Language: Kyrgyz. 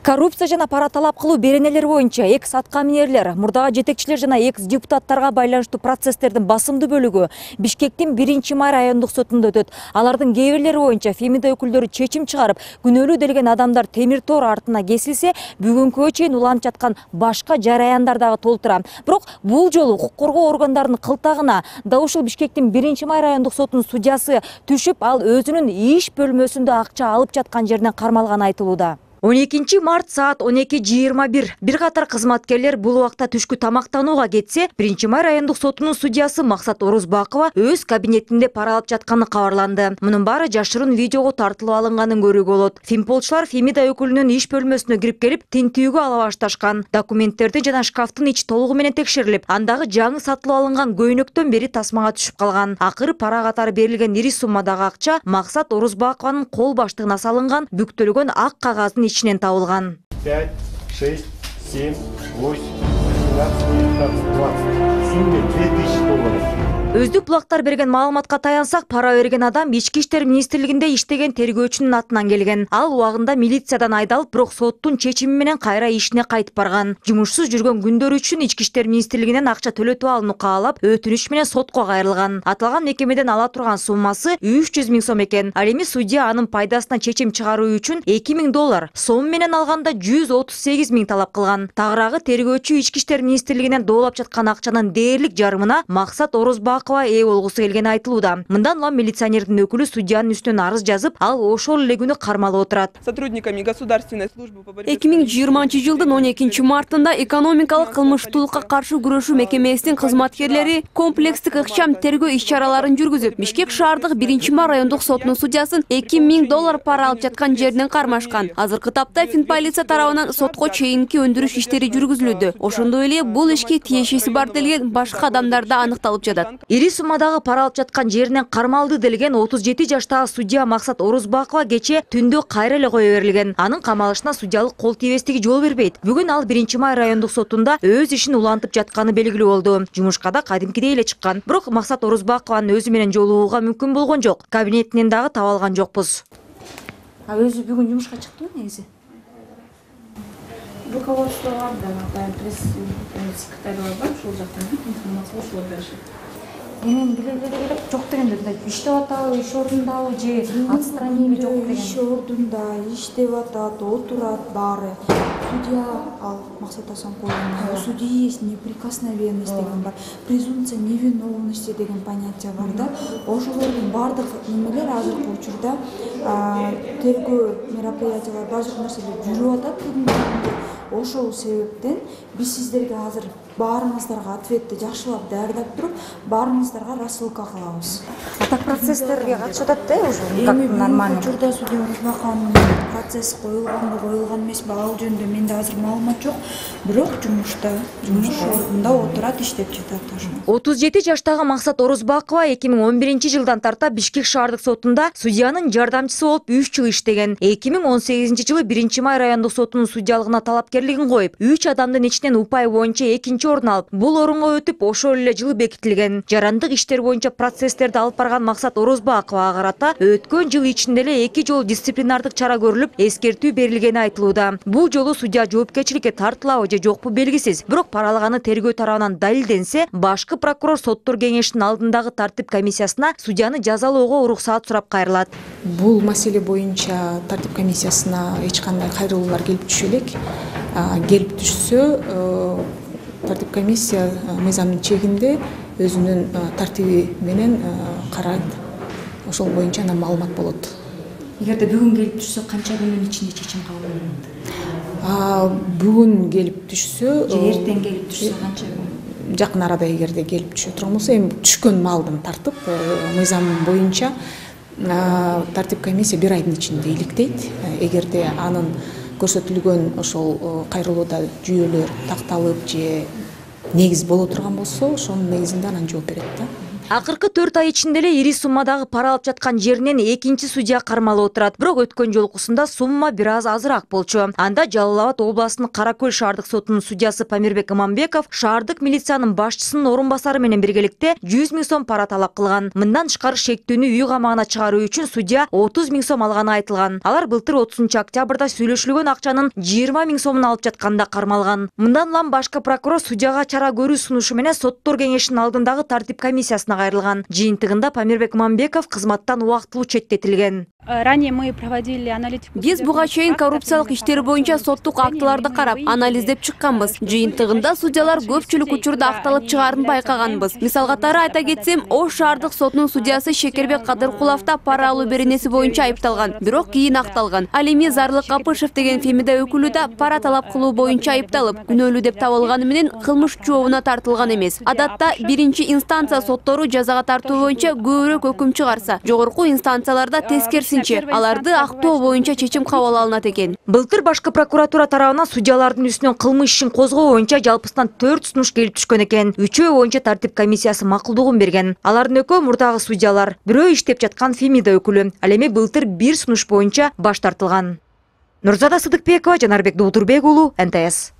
Коррупция жана пара талап кылуу беренелери боюнча экс аткаминерлер, мурдагы жетекчилер жана экс депутаттарга байланыштуу процесстердин басымдуу бөлүгү Бишкектин 1-май райондук сотунда өтөт. Алардын кээ бирлери боюнча Фемида өкүлдөрү чечим чыгарып, күнөөлүү делген адамдар темир тоор артына кесилсе, бүгүнкүгө чейин уланып жаткан башка жараяндар дагы толтура. Бирок бул жолу укук коргоо органдарынын кылтагына да ушул Бишкектин 1-май райондук сотунун судьясы түшүп, ал өзүнүн иш бөлмөсүндө акча алып жаткан жеринен кармалганы айтылууда. 12 март саат 12:21 бир катар кызматкерлер бул убакта түшкү тамактанууга кетсе, 1-май райондук сотунун судьясы Максат Орузбакова өз кабинетинде пара алып жатканы кабарланды. Мунун баары жашырын видеого тартылып алынганын көрүүгө болот. Фемполчулар Фемида өкүлүнүн иш бөлмөсүнө кирип келип, тинтүүгө ала башташкан. Документтерди жана шкафтын ичи толугу менен текшерилип, андагы жаңы сатылып алынган көйнөктөн бери тасмага түшүп калган. Акыры пара катары берилген ири суммадагы акча Максат Орузбакованын кол баштыгына салынган бүктөлгөн ак кагаздын ичинен табылган. 5, 6, 7, 8, 19, 20. Сумма 2000 долларов. Өздүк булактар берген маалыматка таянсак, пара берген адам Ички иштер министрлигинде иштеген тергөөчүнүн атынан келген. Ал убагында милициядан айдалып, бирок соттун чечими менен кайра ишине кайтып барган. Жумушсуз жүргөн күндөрү үчүн Ички иштер министрлигинен акча төлөтүп алууну каалап, өтүнүч менен сотко кайрылган. Аталган мекемеден ала турган суммасы 300 000 сом экен. Ал эми судья анын пайдасына чечим чыгаруу үчүн 2000 доллар, сом менен алганда 138 000 талап кылган. Тагыраагы тергөөчү Ички иштер министрлигинен доолап жаткан акчанын дээрлик жарымына Максат Орузбакова ээ болгусу келгени айтылууда. Мындан улам милиционердин өкүлү судьянын үстүнөн арыз жазып, ал ошол эле күнү кармалып отурат. Сотрудниками государственной службы по борьбе 2020 жылдын 12 мартында экономикалык кылмыштуулукка каршы күрөшүү мекемесинин кызматкерлери комплекстик ыкчам тергөө иш-чараларын жүргүзүп, Бишкек шаардык 1-май райондук сотунун судьясын 2000 доллар пара алып жаткан жеринен кармашкан. Азыркы тапта Финполиция тарабынан сотко чейинки өндүрүш иштери жүргүзүлүүдө. Ошондой эле бул ишке тиешеси бар делген башка адамдар да аныкталып жатат. Ири суммадагы пара алып жаткан жеринен кармалды делген 37 жаштагы судья Максат Орузбакова кече түндө кайра эле кое берилген. Анын камалышына судьялык кол тийбестиги жол бербейт. Бүгүн ал 1-май райондук сотунда өз ишин улантып жатканы белгилүү болду. Жумушка да кадимкидей эле чыккан. Бирок Максат Орузбакованын өзү менен жолугууга мүмкүн болгон жок. Кабинетинен дагы таба алган жокпуз. Өзү бүгүн жумушка чыктымы негизи? Руководствого да, пресс-секретарь бар, ошол жактан информация ошол беришет. Мен биле жок дегенде, иштеп атабы, иш ордундабы же отстранили жок деген. Иш ордунда иштеп атат, отурат баары. Судья ал Максат Асанкуловна, судья есть неприкосновенность деген бар, презумпция невиновности деген понятие бар да. Ошолордун баардык немелер азыркы учурда тергөө мероприятиялар баардык нерселер жүрүп атат бүгүнкү күндө. Ошол себептен биз сиздерге азыр баарыңыздарга ответти жакшылап даярдап туруп, баарыңыздарга рассылка кылабыз. Ата процесстерге катышып атат да уже как нормально. Учурда судья Орузбакованын процесс коюлганбы, коюлган эмеспи, ал жөнүндө менде азыр маалымат жок. Бирок жумуш ордунда отурат, иштеп жатат ошо. 37 жаштагы Максат Орузбакова 2011 жылдан тарта Бишкек шаардык сотунда судьянын жардамчысы болуп 3 жыл иштеген. 2018 жылы 1-май райондук сотунун судьялыгына талапкерлигин коюп, 3 адамдын ичинен упай боюнча экинчи орун алып, бул орунга өтүп, ошол эле жылы бекитилген. Жарандык иштер боюнча процесстерди алып барган Максат Орузбаковага карата өткөн жыл ичинде эле 2 жолу дисциплинардык чара көрүлүп, эскертүү берилгени айтылууда. Бул жолу судья жоопкерчиликке тартылабы же жокпу белгисиз. Бирок пара алганы тергөө тарабынан далилденсе, башкы прокурор соттор кеңешинин алдындагы тартип комиссиясына судьяны жазалоого уруксаат сурап кайрылат. Бул маселе боюнча тартип комиссиясына эч кандай кайрылуулар келип түшө элек. Келип түшсө, тартип комиссия мыйзамдын чегинде өзүнүн тартиби менен карайт. Ошол боюнча анан маалымат болот. Эгерде бүгүн келип түшсө, канча күнүн ичинде чечим кабыл болот? Бүгүн келип түшсө, же эртең келип түшсө канча күн? Жакын арада эгерде келип түшө турган болсо, эми түшкөн маалдан тартып мыйзам боюнча тартип комиссия 1 айдын ичинде иликтейт. Эгерде анын көрсөтүлгөн ошол кайрылууда жүйөлөр такталып же негиз боло турган болсо, ошонун негизинде анан жооп берет да. Акыркы 4 ай ичинде эле ири суммадагы пара алып жаткан жеринен экинчи судья кармалып отурат. Бирок өткөн жолкусунда сумма бир аз азыраак болчу. Анда Жалал Абад областынын Каракөл шаардык сотунун судьясы Памирбек Иманбеков шаардык милициянын башчысынын орун басары менен биргеликте 100 000 сом пара талап кылган. Мындан тышкары шектүүнү үй камагына чыгаруу үчүн судья 30 000 сом алганы айтылган. Алар былтыр 30 октябрда сүйлөшүлгөн акчанын 20 000 сомун алып жатканда кармалган. Мындан улам башкы прокурор судьяга чара көрүү сунушу менен соттор кеңешинин алдындагы тартип комиссиясына кайрылган. Жыйынтыгында Памирбек Иманбеков кызматтан убактылуу четтетилген. Ранее мы проводили аналитику. Биз буга чейин коррупциялык иштер боюнча соттук актыларды карап, анализдеп чыкканбыз. Жыйынтыгында судьялар көпчүлүк учурда акталып чыгаарын байкаганбыз. Мисал катары айта кетсем, Ош шаардык сотунун судьясы Шекербек Кадыркуловда пара алуу беренеси боюнча айыпталган, бирок кийин акталган. Ал эми Зарлык Капышев деген Фемида өкүлү да пара талап кылуу боюнча айыпталып, күнөөлүү деп табылганы менен кылмыш жообуна тартылган эмес. Адатта биринчи инстанция соттору жазага тартуу боюнча көбүрөөк өкүм чыгарса, жогорку инстанцияларда тескерисинче аларды актоо боюнча чечим кабыл алынат экен. Былтыр башкы прокуратура тарабынан судьялардын үстүнөн кылмыш ишин козгоо боюнча жалпысынан 4 сунуш келип түшкөн экен. 3-өө боюнча тартип комиссиясы макулдугун берген. Алардын экөө мурдагы судьялар, бирөө иштеп жаткан Фемида өкүлү. Ал эми былтыр 1 сунуш боюнча баш тартылган. Нурзада Сыдыкбекова, Жанарбек Дуудурбек уулу, НТС.